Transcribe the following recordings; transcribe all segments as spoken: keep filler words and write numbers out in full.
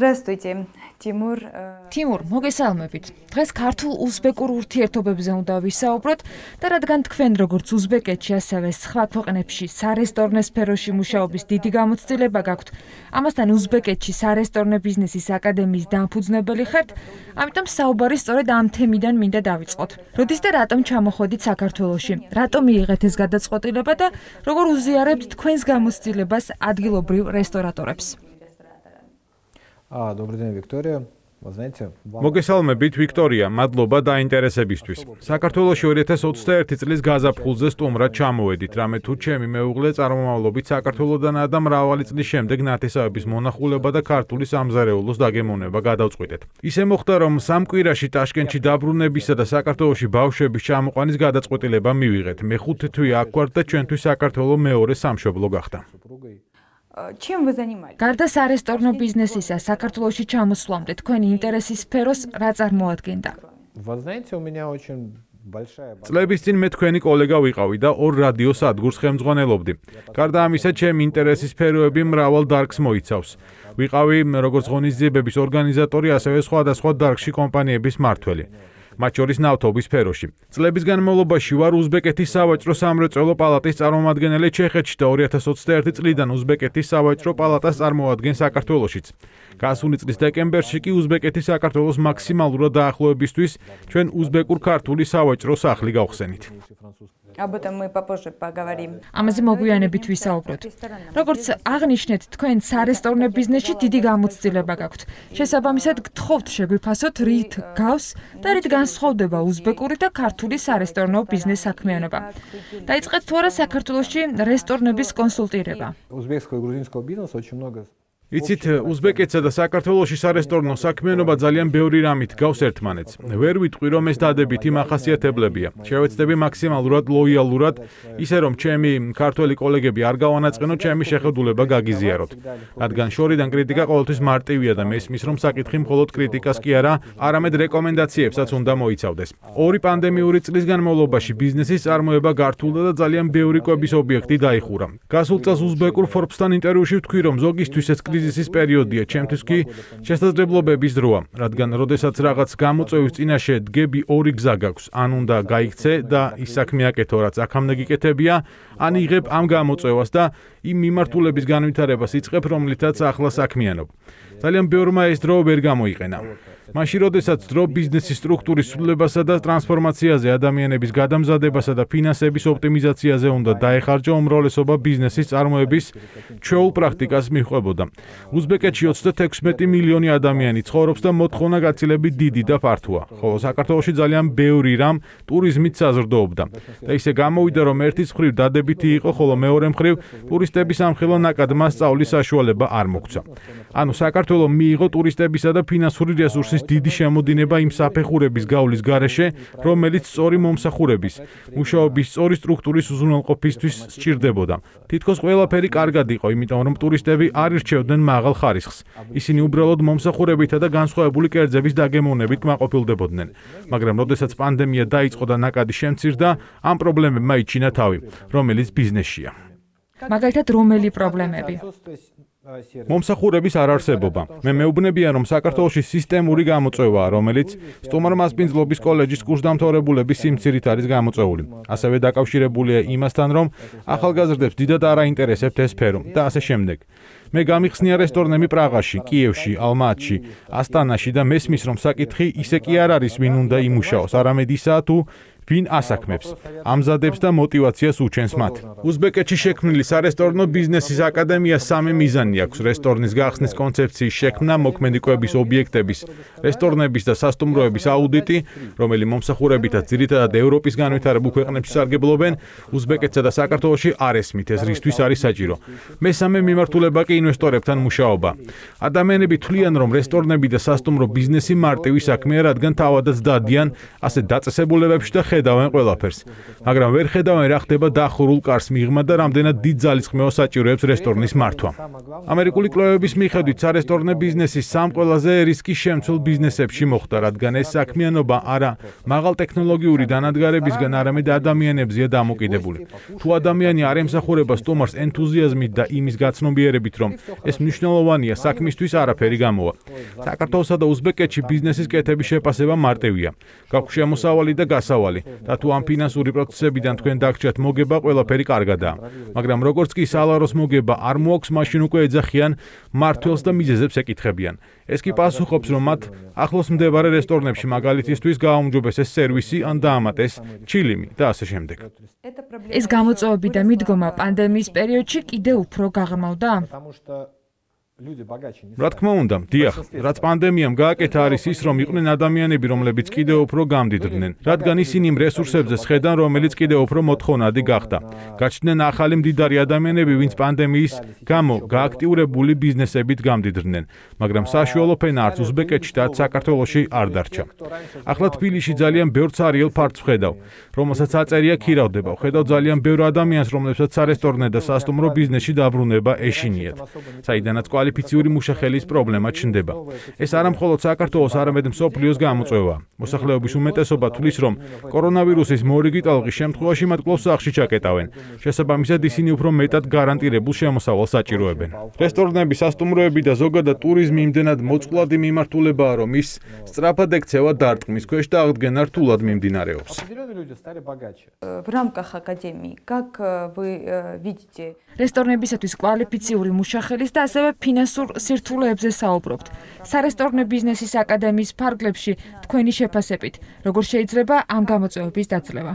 Здравствуйте, Тимур. Тимур, მოგესალმებით. დღეს ქართულ-უზბეკურ ურთიერთობებზე უნდა ვისაუბროთ და რადგან თქვენ როგორც უზბეკეთში, ასევე სხვა ქვეყნებში სარესტორნე სფეროში მუშაობის დიდი გამოცდილება გაქვთ, ამასთან უზბეკეთში სარესტორნე ბიზნესის აკადემიის დამფუძნებელი ხართ, ამიტომ საუბარი სწორედ ამ თემიდან მინდა დავიწყოთ. როდის და რატომ ჩამოხვედით საქართველოში? რატომ მიიღეთ ეს გადაწყვეტილება და როგორ უზიარებთ თქვენს გამოცდილებას ადგილობრივ რესტორატორებს? А, добрый день, Виктория. Вы знаете, მოგესალმებით, ვიქტორია, მადლობა დაინტერესებისთვის. საქართველოში ორი ათას ოცდაერთი წლის გაზაფხულზე სტუმრად ჩამოვედით, რამე თუ ჩემი მეუღლე წარმომავლობით საქართველოდანაა და მრავალი წლის შემდეგ ნათესავების მონახულება და ქართული სამზარეულოს დაგემოვნება გადავწყვიტეთ. ისე მოხდა, რომ სამ კვირაში ტაშკენტში დაბრუნებისა და საქართველოში ბავშვების ჩამოყვანის გადაწყვეტილება მივიღეთ. მეხუთე თვე აქ ვართ და ჩვენთვის საქართველო მეორე სამშობლო გახდა. Чем вы занимаетесь? გარდა სარესტორნო ბიზნესისა, საქართველოში ჩამოსვლამდე თქვენი ინტერესის სფეროს რა წარმოადგენდა? Вы знаете, у меня очень большая... წლების წინ მე თქვენი კოლეგა ვიყავი და ორ რადიო სადგურს ხელმძღვანელობდი. გარდა ამისა, ჩემი ინტერესის სფეროები მრავალ დარგს მოიცავს. ვიყავი როგორც ღონისძიებების ორგანიზატორი, ასევე სხვადასხვა დარგში კომპანიების მმართველი. მათ შორის ნავთობის სფეროში. წლების განმავლობაში ვარ უზბეკეთის სავაჭრო სამრეწველო პალატის წარმომადგენელი ჩეხეთში და ორი ათას ოცდაერთი წლიდან უზბეკეთის სავაჭრო პალატას წარმოადგენს საქართველოშიც. გასული წლის დეკემბერში კი უზბეკეთის საქართველოს მაქსიმალურად დაახლოებისთვის ჩვენ უზბეკურ-ქართული სავაჭრო სახლი გავხსენით. Об этом мы попозже поговорим. ამაზე მოგვიანებით ვისაუბროთ. როგორც აღნიშნეთ, თქვენ სარესტორნე ბიზნესში დიდი გამოცდილება გაქვთ. შესაბამისად, გთხოვთ შეგვიფასოთ, რით გავს და რით განსხვავდება უზბეკური და ქართული სარესტორნო ბიზნეს საქმიანობა. დაიწყეთ თუ არა საქართველოში რესტორნების კონსულტირება. Узбекского и грузинского бизнеса очень много... იცით, უზბეკეთსა და საქართველოში სარესტორნო საქმიანობა ძალიან ბევრი რამით გავს ერთმანეთს. ვერ ვიტყვი, რომ ეს დადებითი მახასიათებლებია. შევეცდები მაქსიმალურად ლოიალურად, ისე რომ ჩემი ქართველი კოლეგები არ გავანაწყენოთ, ჩემი შეხედულება გაგიზიაროთ. რადგან შორიდან კრიტიკა ყოველთვის მარტივია და მესმის, რომ საკითხი მხოლოდ კრიტიკას კი არა, არამედ რეკომენდაციებსაც უნდა მოიცავდეს. ორი პანდემიური წლის განმავლობაში ბიზნესის წარმოება გართულდა და ძალიან ბევრი კვების ობიექტი დაიხურა. გასულ წელს უზბეკურ Forbes-თან ინტერვიუში ვთქვი, რომ ზოგისთვის ეს კრიზისის პერიოდია, ჩემთვის კი შესაძლებლობების დროა, რადგან როდესაც რაღაც გამოწვევის წინაშე დგები ორი გზა გაქვს, ან უნდა გაიქცე და ის საქმე აკეთო, რაც აქამდე გიკეთებია, ან იღებ ამ გამოწვევას და იმ მიმართულების განვითარებას იწყებ, რომლითაც ახლა საქმიანობ. ძალიან ბევრმა ეს დრო ვერ გამოიყენა. მაშინ, როდესაც დრო ბიზნესის სტრუქტურის ცვლილებასა და ტრანსფორმაციაზე, ადამიანების გადამზადებასა და ფინანსების ოპტიმიზაციაზე უნდა დაეხარჯა უმრავლესობა ბიზნესის წარმოების ჩვეულ პრაქტიკას მიჰყვებოდა. უზბეკეთში ოცდათექვსმეტი მილიონი ადამიანი ცხოვრობს და მოთხოვნა გაცილებით დიდი და ფართოა, ხოლო საქართველოში ძალიან ბევრი რამ ტურიზმით საზრდოობდა. და ისე გამოვიდა, რომ ერთის მხრივ დადებითი იყო, ხოლო მეორე მხრივ ტურისტების ამხილო ნაკადმა სწავლის საშუალება არ მოგვცა. ანუ საქართველო მიიღო ტურისტებისა და ფინანსური რესურსის დიდი შემოდინება იმ საფეხურების გავლის გარეშე, რომელიც სწორი მომსახურების, მუშაობის სწორი სტრუქტურის უზრუნველყოფისთვის სჭირდებოდა. თითქოს ყველაფერი კარგად იყო, იმიტომ რომ ტურისტები არ ირჩევდნენ მაღალ ხარისხს. ისინი უბრალოდ მომსახურებითა და განსხვავებული კერძების დაგემოვნებით კმაყოფილდებოდნენ. მაგრამ როდესაც პანდემია დაიწყო და ნაკადი შემცირდა, ამ პრობლემებმა იჩინა თავი, რომელიც ბიზნესშია. მაგალითად, რომელი პრობლემები? მომსახურების არარსებობა. მე მეუბნებიან, რომ საქართველოში სისტემური გამოწვევაა, რომელიც სტუმართმასპინძლობის კოლეჯის კურსდამთავრებულების სიმცირით არის გამოწვეული. ასევე დაკავშირებულია იმასთან, რომ ახალგაზრდებს დიდად არაინტერესებთ ეს სფერო და ასე შემდეგ. მე გამიხსნია რესტორნები პრაღაში, კიევში, ალმატში, ასტანაში და მესმის, რომ საკითხი ისე კი არ არის, ვინ უნდა იმუშაოს, არამედ ისაა თუ ვინ ასაქმებს, ამზადებს და мотивაციას უჩენს მათ. უზბეკეთში შექმნილი სარესტორნო ბიზნესის აკადემია სამი მიზანი აქვს: რესტორნის გახსნის კონცეფციის შექმნა, მოქმედი ობიექტების, რესტორნების და სასტუმროების აუდიტი, რომელი მომსახურებითაც ძირითადად ევროპის განვითარებულ ქვეყნებში სარგებლობენ, უზბეკეთსა და საქართველოში არ ესმით, ეს რისთვის არის საჭირო. მესამე მიმართულება კი ინვესტორებთან მუშაობა. ადამიანები თვლიან, რომ რესტორნები და სასტუმრო ბიზნესი მარტივი საქმეა, რადგან თავადაც დადიან ასე დაწესებულებებში და ხედავენ ყველაფერს. მაგრამ ვერ ხედავენ რა ხდება დახურულ კარს მიღმა და რამდენად დიდ ძალისხმევას საჭიროებს რესტორნის მართვა. ამერიკული კვლევების მიხედვით სარესტორნე ბიზნესის სამ ყველაზე რისკის შემცველ ბიზნესებში მოხვდა, რადგან ეს საქმიანობა არა მაღალ ტექნოლოგიური დანადგარებისგან, არამედ ადამიანებზეა დამოკიდებული. თუ ადამიანი არ ემსახურება სტუმარს ენთუზიაზმით და იმის გაცნობიერებით, რომ რომ ეს მნიშვნელოვანია საქმისთვის არაფერი გამოვა. საქართველოსა და უზბეკეთში ბიზნესის კეთების შეფასება მარტივია. გაქვთ შემოსავალი და გასავალი და თუ ამ ფინანსური პროცესებიდან თქვენ დაგჭირთ მოგება, ყველაფერი კარგადაა. მაგრამ როგორც კი სალაროს მოგება არ მოაქვს, მაშინ უკვე ეძახიან მართველს და მიზეზებს ეკითხებიან. ეს კი პასუხობს, რომ მათ ახლოს მდებარე რესტორნებში მაგალითისთვის გააუმჯობესეს სერვისი ან დაამატეს ჩილიმი და ასე შემდეგ. ეს გამოწვევები და მიდგომა პანდემიის პერიოდში კიდევ უფრო გაღრმავდა? რა თქმა უნდა, დიახ, რაც პანდემიამ გააკეთა არის ის, რომ იყვნენ ადამიანები, რომლებიც კიდევ უფრო გამდიდრდნენ, რადგან ისინი იმ რესურსებზე სხედან, რომელიც კიდევ უფრო მოთხოვნადი გახდა. გაჩნდნენ ახალი მდიდარი ადამიანები, ვინც პანდემიის გამო გააქტიურებული ბიზნესებით გამდიდრდნენ, მაგრამ საშუალო ფენა არც უზბეკეთში და საქართველოში არ დარჩა. ახლა თბილისში ძალიან ბევრ ცარიელ ფართს ვხედავ, რომელსაც აწერია ქირავდება. ვხედავ ძალიან ბევრ ადამიანს, რომლებსაც სარესტორნე და სასტუმრო ბიზნესში დაბრუნება ეშინიათ, საიდანაც კვალიფიციური მუშახელის პრობლემა ჩნდება. ეს არა მხოლოდ საქართველოს, არამედ მსოფლიოს გამოწვევაა. მოსახლეობის უმეტესობა თვლის, რომ კორონავირუსის მორიგი ტალღის შემთხვევაში მათ კვლავ სახლში ჩაკეტავენ. შესაბამისად, ისინი უფრო მეტად გარანტირებულ შემოსავალს საჭიროებენ. რესტორნები, სასტუმროები და ზოგადად ტურიზმი იმდენად მოწყვლადი მიმართულებაა, რომ ის სწრაფად ექცევა დარტყმის ქვეშ და აღდგენა რთულად მიმდინარეობს. В рамках академии, как вы видите? რესტორნებისათვის კვალიფიციური მუშახელის და ასევე ფინანსურ სირთულეებზე საუბრობთ. სარესტორნე ბიზნესის აკადემიის ფარგლებში თქვენი შეფასებით, როგორ შეიძლება ამ გამოწვევების დაძლევა?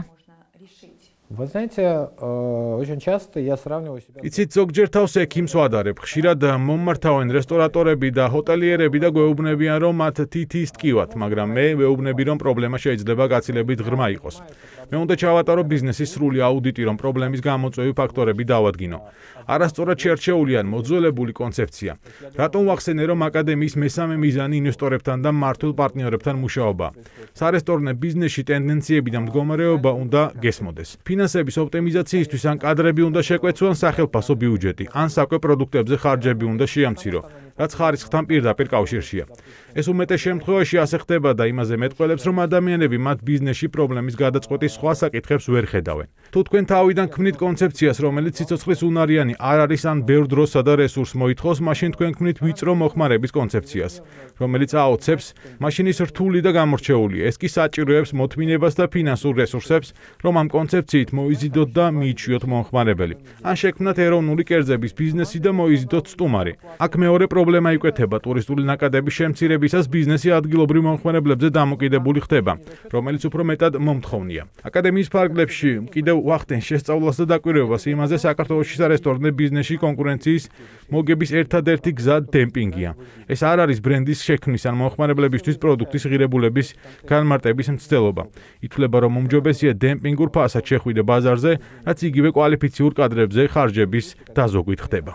Вы знаете, очень часто я сравниваю себя. იცით, ზოგჯერ თავს ექიმს ვადარებ. ხშირად მომმართავენ რესტორატორები და ჰოტელიერები და გვეუბნებიან, რომ მათ თითის ტკივათ, მაგრამ მე ვეუბნები, რომ პრობლემა შეიძლება გაცილებით ღრმა იყოს. მე უნდა ჩავატარო ბიზნესის სრული აუდიტი, რომ პრობლემის გამოწვევი ფაქტორები დავადგინო. არასწორად შერჩეული ან მოძველებული კონცეფცია. რატომ ვახსენე, რომ აკადემიის მესამე მიზანი ინვესტორებთან და მმართველ პარტნიორებთან მუშაობა. სარესტორნე ბიზნესში ტენდენციები და მდგომარეობა უნდა გესმოდეს. ფინანსების ოპტიმიზაციისთვის ან კადრები უნდა შეკვეცონ სახელმწიფო ბიუჯეტი, ან საკვე პროდუქტებზე ხარჯები უნდა შეამცირო, რაც ხარისხთან პირდაპირ კავშირშია. ეს უმეტეს შემთხვევაში ასე ხდება და იმაზე მეტყველებს, რომ ადამიანები მათ ბიზნესში პრობლემის გადაწყვეტის სხვა საკითხებს ვერ ხედავენ. თუ თქვენ თავიდან ქმნით კონცეფციას, რომელიც სიცოცხლის უნარიანი არ არის ან ბევრ დროსა და რესურსს მოითხოვს, მაშინ თქვენ ქმნით ვიწრო მოხმარების კონცეფციას, რომელიც აოცებს, მაშინ ის რთული და გამორჩეულია. ეს კი საჭიროებს მოთმინებას და ფინანსურ რესურსებს, რომ ამ კონცეფციით მოიზიდოთ და მიიჩვიოთ მომხმარებელი. ან შექმნათ ეროვნული კერძების ბიზნესი და მოიზიდოთ სტუმარი. აქ მეორე პრობლემა იკვეთება ტურისტული ნაკადების შემცირებისას ბიზნესი ადგილობრივ მომხმარებლებზე დამოკიდებული ხდება, რომელიც უფრო მეტად მომთხოვნია. აკადემიის ფარგლებში კიდევ ვახდენ შესწავლას და დაკვირვებას იმაზე, საქართველოში სარესტორნე ბიზნესში კონკურენციის მოგების ერთადერთი გზა დემპინგია. ეს არ არის ბრენდის შექმნის ან მომხმარებლებისთვის პროდუქტის ღირებულების განმარტების მცდელობა. ითვლება, რომ უმჯობესია დემპინგურ ფასად შეხვიდე ბაზარზე, რაც იგივე კვალიფიციურ კადრებზე ხარჯების დაზოგვით ხდება.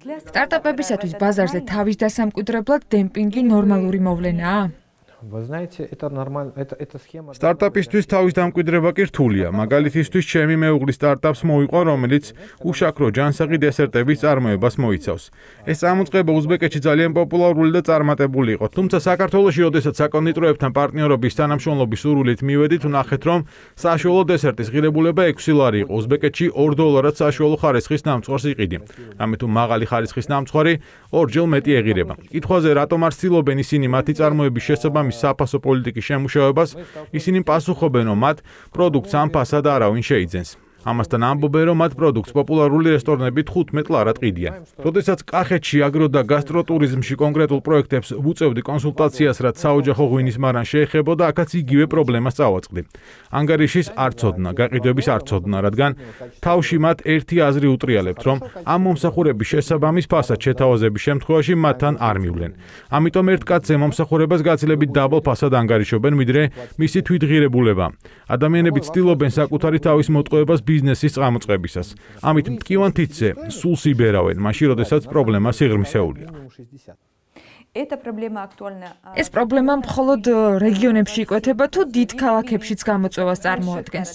სტარტაპებისათვის ბაზარზე თავის დასამკვიდრებლად დემპინგი ნორმალური მოვლენაა? Вы знаете, это нормально, это это схема. სტარტაპისთვის თავის დამკვიდრება კი რთულია. მაგალითისთვის, ჩემი მეუღლის სტარტაპს მოიყვა, რომელიც უშაქრო ჯანსაღი დესერტების წარმოებას მოიცავს. ეს წამოწყება უზბეკეთში ძალიან პოპულარული და წარმატებული იყო. თუმცა საქართველოში, როდესაც საკონდიტროებთან პარტნიორობის თანამშრომლობის სურვილით მივედით, ვნახეთ, რომ საშუალო დესერტის ღირებულება ექვსი ლარი იყო. უზბეკეთში ორ დოლარად საშუალო ხარისხის ნამცხვარს იყიდი. რამე თუ მაღალი ხარისხის ნამცხვარი ორჯერ მეტი ეღირება. კითხვაზე, რატომ არ ცდილობენ ისინი მათი წარმოების შესაბამისად საფასო პოლიტიკის შემუშავებას, ისინი პასუხობენ, რომ მათ პროდუქტს ამ ფასად არავინ შეიძენს. ამასთან ამბობენ, რომ მათ პროდუქტს პოპულარული რესტორნები თხუთმეტ ლარად ყიდიან. როდესაც კახეთში აგრო და გასტროტურიზმში კონკრეტულ პროექტებს ვუწევდი კონსულტაციას, რაც საოჯახო ღვინის მარან შეეხებოდა, აქაც იგივე პრობლემას წავაწყდი. ანგარიშის არ ცოდნა, გაყიდვების არ ცოდნა, რადგან თავში მათ ერთი აზრი უტრიალებთ, რომ ამ მომსახურების შესაბამის ფასად შეთავაზების შემთხვევაში მათთან არ მივლენ. ამიტომ ერთ კაცზე მომსახურებას გაცილებით დაბალ ფასად ანგარიშობენ, ვიდრე მისი თვითღირებულება. ადამიანები ცდილობენ საკუთარი თავის მოტყუებას ბიზნესის წამოწყებისას. ამით მტკივან თითზე სულს იბერავენ, მაშინ როდესაც პრობლემა სიღრმისეულია. Эта проблема актуальна. ეს პრობლემა მხოლოდ რეგიონებში იკვეთება თუ დიდ ქალაქებშიც გამოწვევას წარმოადგენს?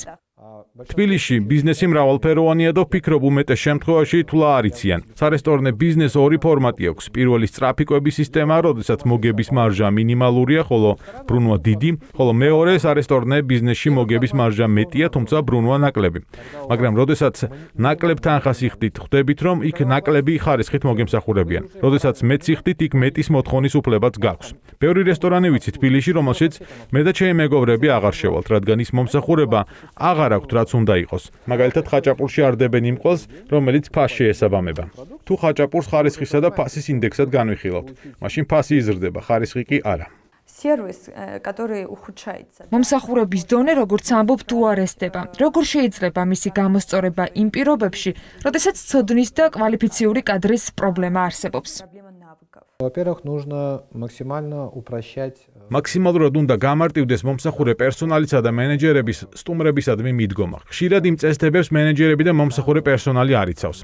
თბილისში ბიზნესი მრავალფეროვანია და ვფიქრობ უმეტეს შემთხვევაში თულა არ იციან. სარესტორნე ბიზნეს ორი ფორმატი აქვს. პირველი სწრაფი კვების სისტემა, როდესაც მოგების მარჟა მინიმალურია, ხოლო ბრუნვა დიდი, ხოლო მეორე სარესტორნე ბიზნესში მოგების მარჟა მეტია, თუმცა ბრუნვა ნაკლები. მაგრამ როდესაც ნაკლებ თანხას იხდით, ხვდებით რომ იქ ნაკლები ხარისხით მოგემსახურებიან. როდესაც მეც იხდით, იქ მეტის მოთხოვნის უფლებაც გაქვს. ბევრი რესტორანი ვიცი თბილისში, რომელშიც მე და ჩემი მეგობრები აღარ შევალთ, რადგან ის მომსახურება აღარ აქვთ, რაც უნდა იყოს. მაგალითად, ხაჭაპურში არ დებენ იმ ყველს, რომელიც ფასს შეესაბამება. თუ ხაჭაპურს ხარისხისა და ფასის ინდექსად განვიხილავთ, მაშინ ფასი იზრდება, ხარისხი კი არა. Сервис, который ухудшается. მომსახურების დონე, როგორც ამბობ, თუ არ ესდება. როგორ შეიძლება მისი გამოსწორება იმ პირობებში, როდესაც ცოდნის და კვალიფიციური კადრის პრობლემა არსებობს? Во-первых, нужно максимально упрощать. მაქსიმალურად უნდა გამარტივდეს მომსახურე პერსონალისა და მენეჯერების სტუმრებისადმი მიდგომა. ხშირად იმ წესდებებს მენეჯერები და მომსახურე პერსონალი არ იცავს.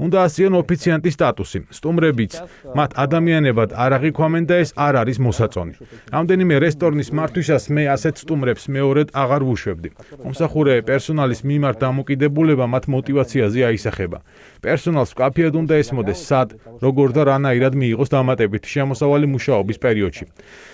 უნდა ასწიონ ოფიციანტის სტატუსი. სტუმრებიც მათ ადამიანებად არ აღიქვამენ და ეს არ არის მოსაწონი. რამდენიმე რესტორნის მართვისას მე ასეთ სტუმრებს მეორედ აღარ ვუშვებდი. მომსახურე პერსონალის მიმართ დამოკიდებულება მათ мотивაციაზე აისახება. პერსონალს ვკაფიად უნდა ესმოდეს სად, როგორ და რანაირად მიიღოს დამატებითი შემოსავალი მუშაობის პერიოდში.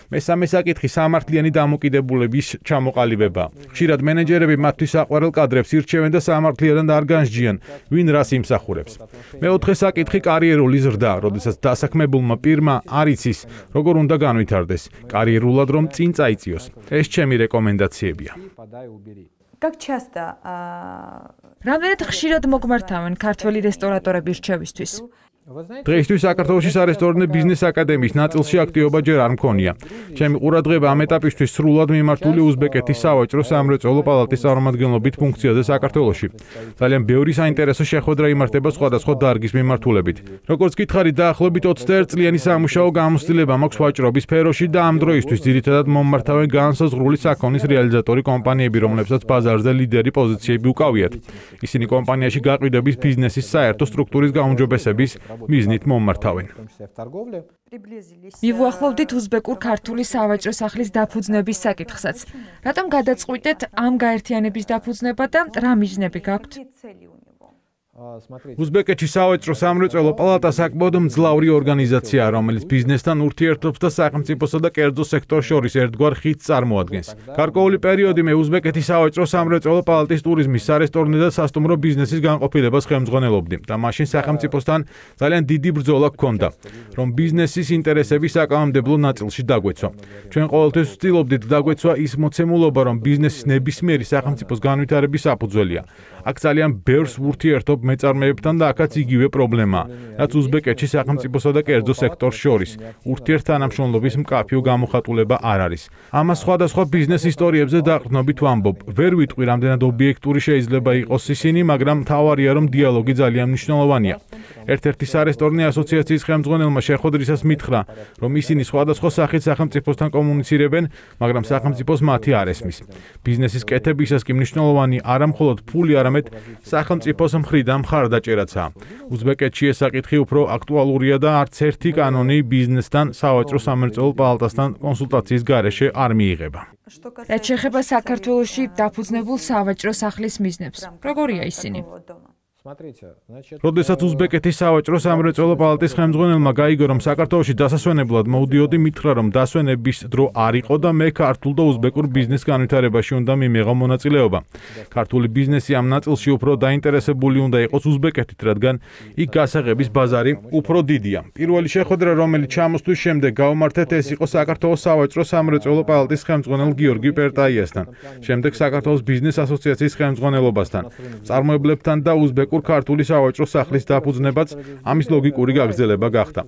მესამე საკითხი სამართლიანი დამოკიდებულების ჩამოყალიბება. ხშირად მენეჯერები მათთვის საყვარელ კადრებს ირჩევენ და სამართლიანად არ განსჯიან, ვინ რას იმსახურებს. მეოთხე საკითხი კარიერული ზრდა, როდესაც დასაქმებულმა პირმა არ იცის, როგორ უნდა განვითარდეს, კარიერულად რომ წინ წაიწიოს. ეს ჩემი რეკომენდაციებია. Как часто რამდენად ხშირად მოგმართავენ ქართველი რესტორატორები რჩევისთვის? დღეისთვის საქართველოში სარესტორნე ბიზნეს აკადემიის ნაწილში აქტივობა ჯერ არ მქონია. ჩემი ყურადღება ამ ეტაპისთვის სრულად მიმართული უზბეკეთის სავაჭრო სამრეწველო პალატის წარმომადგენლობით ფუნქციაზე საქართველოში. ძალიან ბევრი საინტერესო შეხვედრა იმართება სხვადასხვა დარგის მიმართულებით. როგორც გითხარით, დაახლოებით ოცდაერთი წლიანი სამუშაო გამოცდილება მაქვს ვაჭრობის სფეროში და ამ დროისთვის ძირითადად მომმართავენ განსაზღვრული საქონლის რეალიზატორი კომპანიები, რომლებსაც ბაზარზე ლიდერი პოზიციები უკავიათ. ისინი კომპანიაში გაყიდვების ბიზნესის საერთო სტრუქტურის გაუმჯობესების მიზნით მომმართავენ. მივუახლოვდით უზბეკურ ქართული სავაჭრო სახლის დაფუძნების საკითხსაც. რატომ გადაწყვიტეთ ამ გაერთიანების დაფუძნება და რა მიზნები გაქვთ? უზბეკეთში სავაჭრო სამრეწველო პალატა საკმაოდ მძლავრი ორგანიზაციაა, რომელიც ბიზნესთან ურთიერთობს და სახელმწიფოსა და კერძო სექტორს შორის ერთგვარ ხიდს წარმოადგენს. გარკვეული პერიოდი მე უზბეკეთის სავაჭრო სამრეწველო პალატის ტურიზმის, სარესტორნე და სასტუმრო ბიზნესის განყოფილებას ხელმძღვანელობდი და მაშინ სახელმწიფოსთან ძალიან დიდი ბრძოლა გქონდა, რომ ბიზნესის ინტერესები საკანონმდებლო ნაწილში დაგვეცვა. ჩვენ ყოველთვის ვცდილობდით დაგვეცვა ის მოცემულობა, რომ ბიზნესის ნებისმიერი სახელმწიფოს განვითარების საფუძველია. აქ ძალიან ბევრს ვურთიერთობ მეწარმეებთან და აქაც იგივე პრობლემაა, რაც უზბეკეთში სახელმწიფოსა და კერძო სექტორს შორის. ურთიერთთანამშრომლობის მკაფიო გამოხატულება არ არის. ამას სხვადასხვა ბიზნეს ისტორიებზე დაყრდნობით ვამბობ. ვერ ვიტყვი, რამდენად ობიექტური შეიძლება იყოს ისინი, მაგრამ მთავარია, რომ დიალოგი ძალიან მნიშვნელოვანია. ერთ-ერთი სარესტორნე ასოციაციის ხელმძღვანელმა შეხვედრისას მითხრა, რომ ისინი სხვადასხვა სახით სახელმწიფოსთან კომუნიცირებენ, მაგრამ სახელმწიფოს მათი არ ესმის. ბიზნესის კეთებისას კი მნიშვნელოვანი არა მხოლოდ ფული, არამედ სახელმწიფოს მხრიდან მხარდაჭერაცაა. უზბეკეთში ეს საკითხი უფრო აქტუალურია და არც ერთი კანონი ბიზნესთან, სავაჭრო სამრეწველო პალატასთან კონსულტაციის გარეშე არ მიიღება. რაც შეეხება საქართველოში დაფუძნებულ სავაჭრო სახლის მიზნებს, როგორია ისინი? როდესაც უზბეკეთის სავაჭრო სამრეწველო პალატის ხელმძღვანელმა გაიგო, რომ საქართველოში დასასვენებლად მოვდიოდი, მითხრა, რომ დასვენების დრო არ იყო და მე ქართულ და უზბეკურ ბიზნეს განვითარებაში უნდა მიმეღო მონაწილეობა. ქართული ბიზნესი ამ ნაწილში უფრო დაინტერესებული უნდა იყოს უზბეკეთით, რადგან იქ გასაღების ბაზარი უფრო დიდია. პირველი შეხვედრა, რომელიც ჩამოსვლის შემდეგ გავმართეთ, ეს იყო საქართველოს სავაჭრო სამრეწველო პალატის ხელმძღვანელ გიორგი პერტაიასთან, შემდეგ საქართველოს ბიზნეს ასოციაციის ხელმძღვანელობასთან, წარმოებლებთან და უზბეკურ ქართული სავაჭრო სახლის დაფუძნებაც ამის ლოგიკური გაგრძელება გახდა.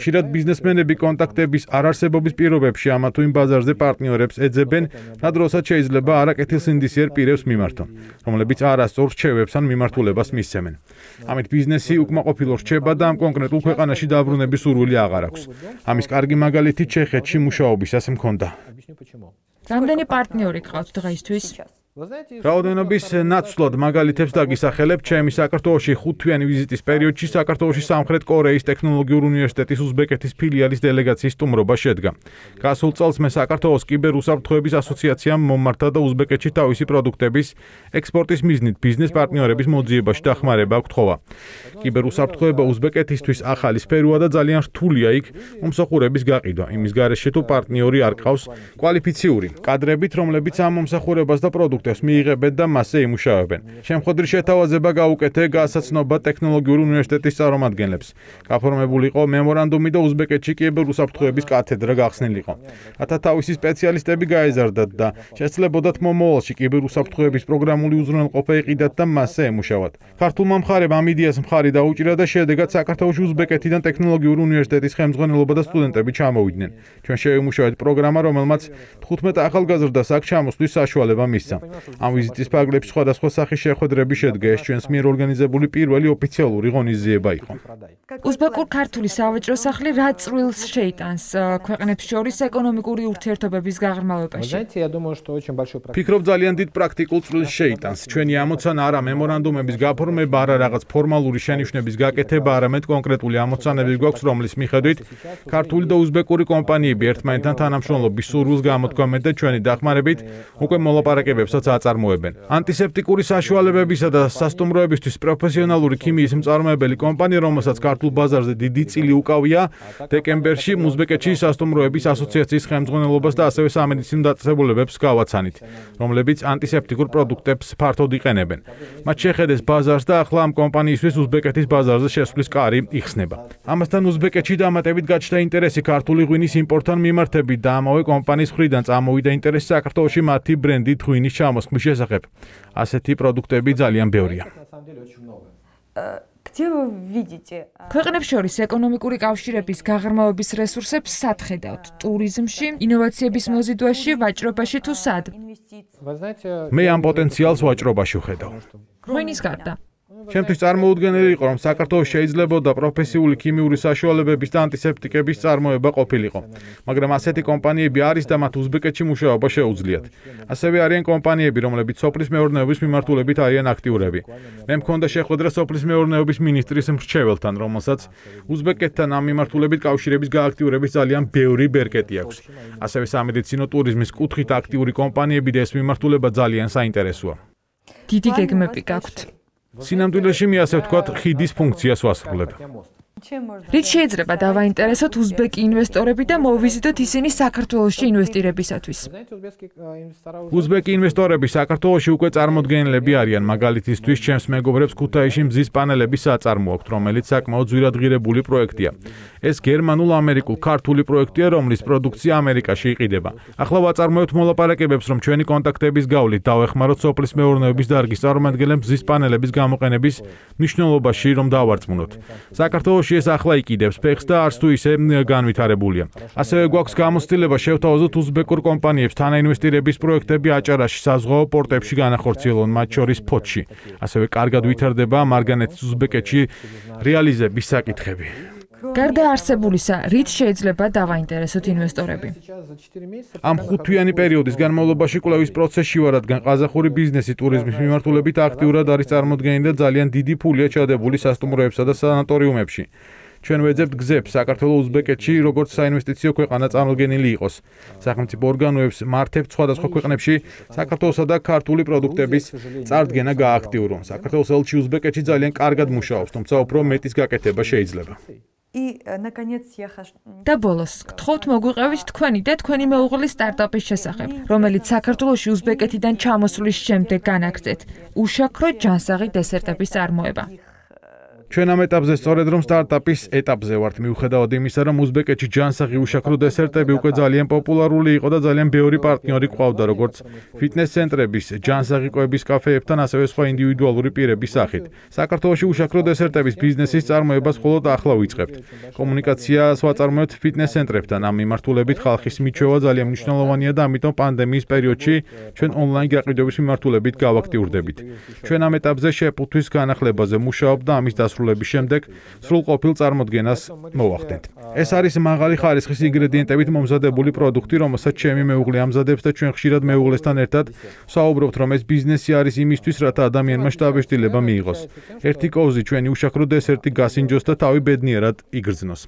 ხშირად ბიზნესმენები კონტაქტების არარსებობის პირობებში ამა თუ იმ ბაზარზე პარტნიორებს ეძებენ, რადგანაც შეიძლება არაკეთილსინდისიერ პირებს მიმართონ, რომლებიც არასწორ რჩევებს ან მიმართულებას მისცემენ. ამით ბიზნესი უკმაყოფილო რჩება და ამ კონკრეტულ ქვეყანაში დაბრუნების სურვილი აღარ აქვს. ამის კარგი მაგალითი ჩეხეთში მუშაობისას მქონდა. რამდენი პარტნიორი გყავთ დღეისთვის? რაოდენობის ნაცვლად მაგალითებს დაგისახელებ, ჩემი საქართველოში ხუთთვიანი ვიზიტის პერიოდში საქართველოში სამხრეთ კორეის ტექნოლოგიურ უნივერსიტეტის უზბეკეთის ფილიალის დელეგაციის სტუმრობა შედგა. გასულ წელს მე საქართველოს კიბერუსაფრთხოების ასოციაციამ მომართა და უზბეკეთში თავისი პროდუქტების ექსპორტის მიზნით ბიზნეს პარტნიორების მოძიებაში დახმარება გთხოვა. კიბერუსაფრთხოება უზბეკეთისთვის ახალი სფეროა და ძალიან რთულია იქ მომსახურების გაყიდვა. იმის გარეშე თუ პარტნიორი არ ყავს კვალიფიციური კადრებით, რომლებიც ამ მომსახურებას და პროდუქტებს მიიღებენ და მასზე იმუშავებენ. შემხოდრი შეთავაზება გაუკეთე გასაცნობა ტექნოლოგიური უნივერსიტეტის წარმომადგენლებს. გაფორმებული იყო მემორანდუმი და უზბეკეთში კიბერუსაფრთხოების კათედრა გახსნილიყო. რათა თავისი სპეციალისტები გაეზარდათ და შესაძლებოდათ მომავალში კიბერუსაფრთხოების პროგრამული უზრუნველყოფა იყიდათ და მასზე ემუშავათ. ქართულმა მხარემ ამ იდეას მხარი დაუჭირა და შედეგად საქართველოში უზბეკეთიდან ტექნოლოგიური უნივერსიტეტის ხელმძღვანელობა და სტუდენტები ჩამოვიდნენ. ჩვენ შევიმუშავეთ პროგრამა, რომელმაც თხუთმეტ ახალგაზრდას აქ ჩამოსვლის საშუალება მისცა. ამ ვიზიტის ფარგლებში სხვადასხვა სახის შეხვედრები შედგა. ეს ჩვენს მიერ ორგანიზებული პირველი ოფიციალური ღონისძიება იყო. უზბეკურ-ქართული სავაჭრო სახლი რა წვრილს შეიტანს ქვეყნებს შორის ეკონომიკური ურთიერთობების გაღრმავებაში? ფიქრობ ძალიან დიდ პრაქტიკულ წვრილს შეიტანს. ჩვენი ამოცანა არა მემორანდუმების გაფორმება, არა რაღაც ფორმალური შენიშვნების გაკეთება, არამედ კონკრეტული ამოცანები გვაქვს, რომლის მიხედვით ქართული და უზბეკური კომპანიები ერთმანეთთან თანამშრომლობის სურვილს გამოთქვამენ და ჩვენი დახმარებით უკვე მოლაპარაკებებსაც აწარმოებენ. ანტისეპტიკური საშუალებებისა და სასტუმროებისთვის პროფესიონალური ქიმიის მწარმოებელი კომპანია, რომელსაც ქართულ ბაზარზე დიდი წილი უკავია, დეკემბერში უზბეკეთში სასტუმროების ასოციაციის ხელმძღვანელობას და ასევე სამედიცინო დაწესებულებებს გავაცანით, რომლებიც ანტისეპტიკურ პროდუქტებს ფართოდ იყენებენ. მათ შეხედეს ბაზარს და ახლა ამ კომპანიისთვის უზბეკეთის ბაზარზე შესვლის კარი იხსნება. ამასთან უზბეკეთში დამატებით გაჩნდა ინტერესი ქართული ღვინის იმპორტთან მიმართებით და ამავე კომპანიის მხრიდან წამოვიდა ინტერესი საქართველოში მათი ბრენდით ღვინის ჩამოსხმის შესახებ. ასეთი პროდუქტები ძალიან ბევრია. ქვეყნებს შორის ეკონომიკური კავშირების გაღრმავების რესურსებს სად ხედავთ? ტურიზმში, ინოვაციების მოზიდვაში, ვაჭრობაში თუ სად? მე ამ პოტენციალს ვაჭრობაში ვხედავ. ღვინის გარდა. ჩემთვის წარმოუდგენელი იყო, რომ საქართველოს შეიძლებოდა პროფესიული ქიმიური საშუალებების და ანტისეპტიკების წარმოება ყოფილიყო. მაგრამ ასეთი კომპანიები არის და მათ უზბეკეთში მუშაობა შეუძლიათ. ასევე არიან კომპანიები, რომლებიც სოფლის მეურნეობის მიმართულებით არიან აქტიურები. მე მქონდა შეხვედრა სოფლის მეურნეობის მინისტრის მრჩეველთან, რომელსაც უზბეკეთთან ამ მიმართულებით კავშირების გააქტიურების ძალიან ბევრი ბერკეტი აქვს. ასევე სამედიცინო ტურიზმის კუთხით აქტიური კომპანიები და ეს მიმართულება ძალიან საინტერესოა. დიდი გეგმები გაქვთ. სინამდვილეში მე ასე ვთქვათ, ხიდის ფუნქციას ვასრულებ. რით შეიძლება დავაინტერესოთ უზბეკი ინვესტორები და მოვიზიდოთ ისინი საქართველოში ინვესტირებისათვის? უზბეკი ინვესტორები საქართველოში უკვე წარმოდგენილები არიან. მაგალითისთვის, ჩემს მეგობრებს ქუთაისში მზის პანელების საწარმო აქვთ, რომელიც საკმაოდ ძვირადღირებული პროექტია. ეს გერმანულ-ამერიკულ-ქართული პროექტია, რომლის პროდუქცია ამერიკაში იყიდება. ახლა ვაწარმოებთ მოლაპარაკებებს, რომ ჩვენი კონტაქტების გავლით დავეხმაროთ სოფლის მეურნეობის დარგის წარმომადგენლებს მზის პანელების გამოყენების მნიშვნელობაში, რომ დავარწმუნოთ. საქართველოში ეს ახლა იყიდებს ფეხს და არც თუ ისე განვითარებულია. ასევე გვაქვს გამოცდილება შევთავაზოთ უზბეკურ კომპანიებს თანაინვესტირების პროექტები აჭარაში, საზღვაო პორტებში განახორციელონ, მათ შორის ფოთში. ასევე კარგად ვითარდება მარგანეთის უზბეკეთში რეალიზების საკითხები. გარდა არსებულისა, რით შეიძლება დავაინტერესოთ ინვესტორები? ამ ხუთთვიანი პერიოდის განმავლობაში კვლევის პროცესში ვარ, რადგან ყაზახური ბიზნესი ტურიზმის მიმართულებით აქტიურად არის წარმოდგენილი და ძალიან დიდი ფულია ჩადებული სასტუმროებსა და სანატორიუმებში. ჩვენ ვეძებთ გზებს საქართველოს უზბეკეთში, როგორც საინვესტიციო ქვეყანა წარმოდგენილი იყოს. სახელმწიფო ორგანოებს მართებთ სხვადასხვა ქვეყნებში საქართველოსა და ქართული პროდუქტების წარდგენა გააქტიურონ. საქართველოს ელჩი უზბეკეთში ძალიან კარგად მუშაობს, თუმცა უფრო მეტის გაკეთება შეიძლება. და ბოლოს, გთხოვთ მოგვიყევით თქვენი და თქვენი მეუღლის სტარტაპის შესახებ, რომელიც საქართველოში უზბეკეთიდან ჩამოსვლის შემდეგ განაგრძეთ. უშაქრო ჯანსაღი დესერტების წარმოება. ჩვენ ამ ეტაპზე სწორედ რომ სტარტაპის ეტაპზე ვართ, მიუხედავად იმისა, რომ უზბეკეთში ჯანსაღი უშაქრო დესერტები უკვე ძალიან პოპულარული იყო და ძალიან ბევრი პარტნიორი ყავდა, როგორც ფიტნეს ცენტრების, ჯანსაღი კვების კაფეებთან, ასევე სხვა ინდივიდუალური პირების სახით. საქართველოში უშაქრო დესერტების ბიზნესის წარმოებას მხოლოდ ახლა ვიწყებთ. კომუნიკაციას ვაწარმოებთ ფიტნეს ცენტრებთან. ამ მიმართულებით ხალხის მიჩვევა ძალიან მნიშვნელოვანია და ამიტომ პანდემიის პერიოდში ჩვენ ონლაინ გაყიდვების მიმართულებით გავაქტიურდებით. ჩვენ ამ ეტაპზე შეფუთვის განახლებაზე მუშაობთ და ამის დასრულების შემდეგ სრულყოფილ წარმოდგენას მოვახდენთ. ეს არის მაღალი ხარისხის ინგრედიენტებით მომზადებული პროდუქტი, რომელსაც ჩემი მეუღლე ამზადებს და ჩვენ ხშირად მეუღლესთან ერთად ვსაუბრობთ, რომ ეს ბიზნესი არის იმისთვის, რათა ადამიანმა შთაბეჭდილება მიიღოს. ერთი კოვზი ჩვენი უშაქრო დესერტი გასინჯოს და თავი ბედნიერად იგრძნოს.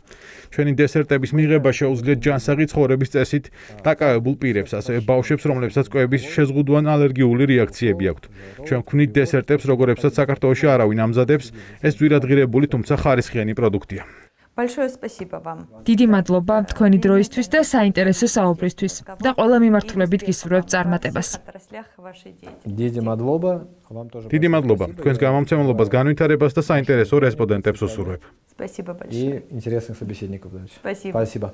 ჩვენი დესერტების მიღება შეუძლიათ ჯანსაღი ცხოვრების წესით დაკავებულ პირებს, ასევე ბავშვებს, რომლებსაც კვების შეზღუდვან ალერგიული რეაქციები აქვთ. ჩვენ ვქმნით დესერტებს, როგორებსაც საქართველოში არავინ ამზადებს, ეს ძვირადღირებული, თუმცა ხარისხიანი პროდუქტია. Большое спасибо вам. დიდი მადლობა თქვენი დროისთვის და საინტერესო საუბრისთვის და ყველა მიმართულებით გისურვებთ წარმატებას. დიდი მადლობა, вам тоже. დიდი მადლობა. თქვენს გამომცემლობას, განვითარებას და საინტერესო რესპონდენტებს უსურვებ. Спасибо большое. И интересных собеседников дальше. Спасибо. Спасибо.